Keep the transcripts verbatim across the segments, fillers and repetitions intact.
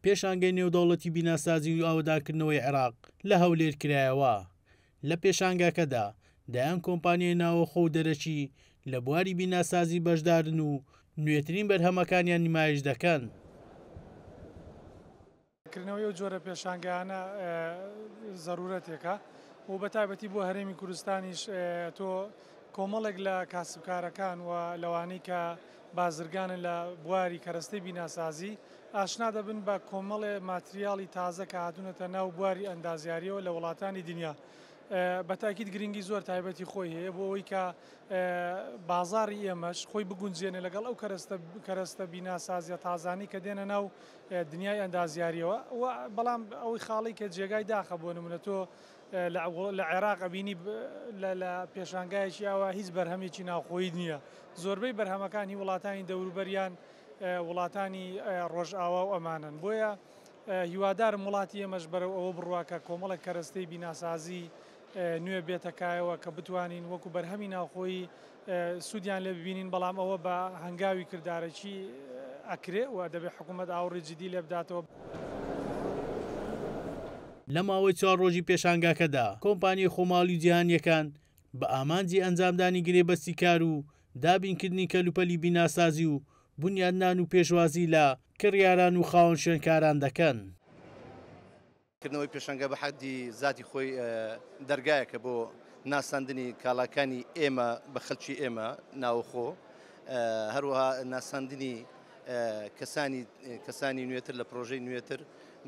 پێشانگەی نێودەوڵەتی بیناسازی و ئاوەدانکردنەوەی عێراق لە هەولێر کرایەوە. لە پێشانگاکەدا دەیان کۆمپانیای ناوەخۆ و دەرەکی لە بواری بیناسازی بەشدارن و نوێترین بەرهەمەکانیان نمایش دەکەن. کردنەوەی ئەو جۆرە پێشانگایانە زەرورەتێکە و بە تایبەتی بۆ هەرێمی کوردستانیش تۆ کۆمەڵێک لە کاسبکارەکان و لەوانەی کە بازرگانن لە بواری کەرەستەی بیناسازی ئاشنا دەبن بە کۆمەڵێ ماتریاڵی تازە کە هاتوونەتە ناو بواری ئەندازیاریەوە لە وڵاتانی دنیا. بە تاکید گرنگی زۆر تایبەتی خۆی هەیە بۆ ئەوەی کە بازاری ئێمەش خۆی بگونجێنێ لەگەڵ ئەو کەرەستە بیناسازیە تازانی کە دێنە ناو دنیای ئەندازیاریەوە. بەڵام ئەوەی خاڵی کە جێگای داخە بۆ نمونە تۆ لە عێراق ئەبینی لە پێشانگایەکی ئاوا هیچ بەرهەمێکی ناوخۆیی نییە. زۆربەی بەرهەمەکانی وڵاتانی دەوروبەریان وڵاتانی ڕۆژئاوا و ئەمانن. بۆیە هیوادارم وڵاتی ئێمەش بەرەو ئەوە بڕوا کە کۆمەڵێک کەرەستەی بیناسازی نوێ بێتەکایەوە کە بتوانین وەکو بەرهەمی ناوخۆیی سوودیان لێ ببینین، بەڵام ئەوە بە هەنگاوی کردارەکی ئەکرێ و دەبێت حکوومەت ئاوڕی جدی لێ بداتەوە. لە ماوەی چوار ڕۆژی پێشانگاکەدا کۆمپانیای خۆماڵی جیهانیەکان بە ئامانجی ئەنجامدانی گرێبەستی کار و دابینکردنی کەلوپەلی بیناسازی و بنیادنان و پێشوازی لە کڕیاران و خاوەن شوێنکاران دەکەن. کردنەوەی پێشانگا بە حەدی زاتی خۆی دەرگایەکە بۆ ناساندنی کاڵاکانی ئێمە بە خەلکی ئێمە ناوخۆ، هەروەها ناساندنی کەسانی کەسانی نوێتر لە پرۆژەی نوێتر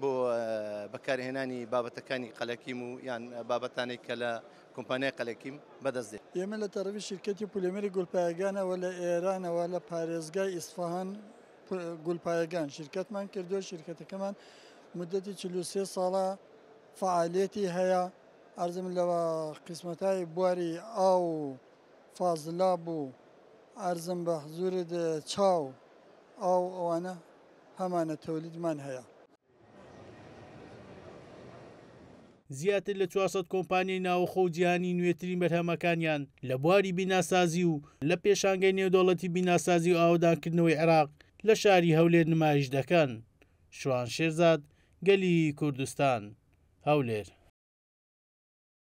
بۆ بەکارهێنانی بابەتەکانی قەلەکیم و یان بابەتانێک کە لە کۆمپانیای قەلەکیم بەدەست دێت. ئێمە لە تەرەفی شرکەتی پولێمەری گولپایەگانەوە لە ئێرانەوە لە پارێزگای ئیسفەهان گولپایەگان شرکەتمان کردووە. شرکەتەکەمان مدەتی چل و سێ ساڵە فعالیەتی هەیە. ئەرزم لە قسمەتای بواری ئاو و فازلاب و ئەرزم بە حزورت چاو ئاو ئەوانە هەمانە تەولیدمان هەیە. زیاتر لە چوار سەد کۆمپانیای ناوەخۆ و جیهانی نوێترین بەرهەمەکانیان لە بواری بیناسازی و لە پێشانگەی نێودەوڵەتی بیناسازی و ئاوەدانکردنەوەی عێراق لە شاری هەولێر نمایش دەکەن. شوان شێرزاد، گەلی کوردستان، هەولێر.